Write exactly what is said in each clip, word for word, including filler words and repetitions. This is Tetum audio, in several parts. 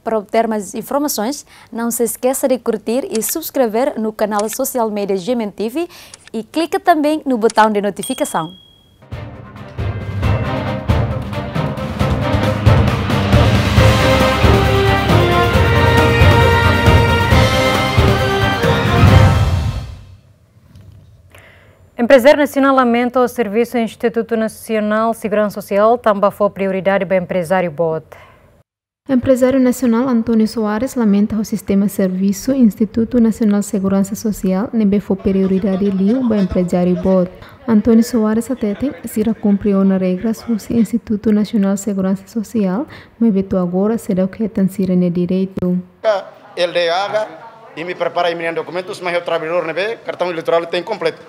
Para obter mais informações, não se esqueça de curtir e subscrever no canal social media G M N T V e clica também no botão de notificação. Emprezáriu nasionál lamenta servisu Institutu Nasionál Seguransa Sosiál tanba fó prioridade ba emprezáriu boot. Emprezáriu nasionál António Soares lamenta ho sistema servisu Institutu Nasionál Seguransa Sosiál ne'ebé fó prioridade liu ba emprezáriu boot. António Soares hateten, sira kumpre ona regras husi Institutu Nasionál Seguransa Sosiál, maibé to'o agora seidauk hetan sira-nia direitu. L D H, imi prepara imi-nia dokumentus, mai ho traballadór ne'ebé kartaun eleitorál tenke kompletu.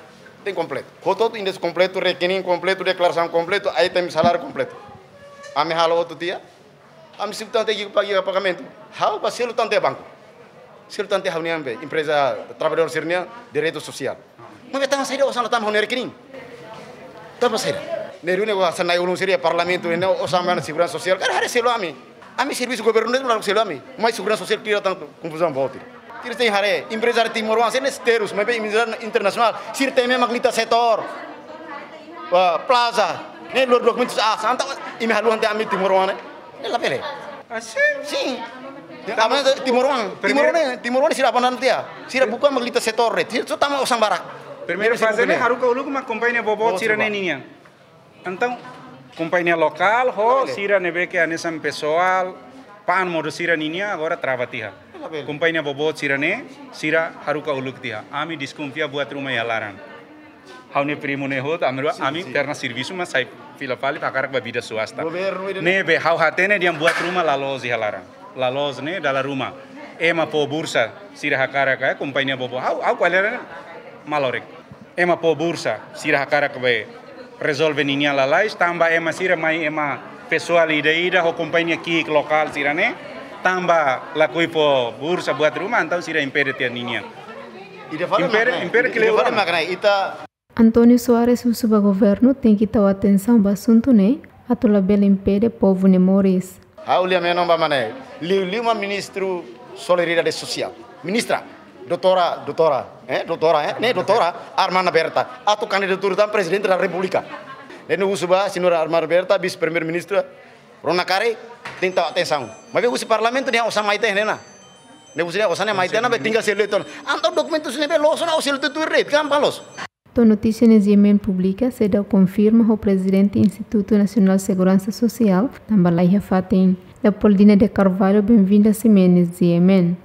Tenke kompletu. Hotu-hotu enderesu kompletu, rekening kompletu, deklarasaun kompletu, ai tenke saláriu kompletu. Ami halo hotu tiha. Ami selu tan tiha iha pa-, iha pagamentu. Ha'u bá selu tan tiha banku. Selu tan tiha ha'u-nian be, empreza traballadór sira-nia direitu sosiál. Maibé tanba saida osan la tama ha'u-nia rekening? Tanba saida? Ne'e duni osan na'in-ulun sira iha parlamentu, ne'e osan mana seguransa sosiál. Karik haree selu ami. Ami servisu governu ne'e la selu ami. Mai seguransa sosiál tira tan konfuzaun boot. Tira tenke haree, emprezáriu timoroan sira-ne'e terus, maibé emprezáriu internasionál, sira temi mak lita setór. Wah, plaza. Ne'e lori dokumentus aas, entaun imi haluha tiha ami timoroan ne'e. Ne'e labele. Ah, sin. Sin. Tanba, ami timoroan, primeiru, timoroan ne'e, timoroan ne'e sira apa nanti ya? Sira buka mak lita setór ne'e. Sira só tama osan barak. Primeiru faze ne'e haruka uluk mak kompañia boboot sira-ne'e nian. Entaun, kompañia lokál ho sira ne'ebé ke hanesan pesoál, pa'an modo sira ninia agora trava tiha. Kompañia boboot sira-ne'e, sira haruka uluk tiha. Ami deskonfia buat ruma iha laran. Ha'u-nia primu ne'e hotu, ami rua, ami terna servisu mak sai fila fali hakarak ba vida suasta. Ne'ebé ha'u hatene dehan buat ruma la loos iha laran. La loos ne'e dala ruma. Ema fó bursa, sira hakarak, eh, kompañia boboot. Ha'u, ha'u ko'alia ne'e malorek. Ema fó bursa, sira hakarak be rezolve ninia lalais, tanba ema sira mai ema pesoál ida-ida ho kompañia ki'ik lokál sira-ne'e, tanba lakohi fó bursa buat ruma, entaun sira impede tiha ninia. Impede, impede ke le ita. António Soares husu ba governu tenke tau atensaun ba asuntu ne'e, atu labele impede povu nia moris. Ha'u lia menon ba mane, liu-liu mak ministru solidariedade sosiál. Ministra, doutora, doutora, eh, doutora, eh, ne'e doutora Armanda Berta. Atu kandidatura tan prezidente da repúblika. Ne'e husu ba señora Armanda Berta, vise-primeiru-ministra, rona karik, tenke tau atensaun. Maibé husi parlamentu nia osan mai tiha ona. Ne'e husi nia osan mai tiha ona, be tinggal selu tan. Entaun dokumentus ne'ebé loos ona, ha'u selu tuir de'it, gampang loos. To'o notísia ne'e GMN publika, seidauk konfirma ho prezidente Institutu Nasionál Seguransa Sosiál, tanba la iha fatin. Leopoldina de Carvalho, Benvinda Ximenes, GMN.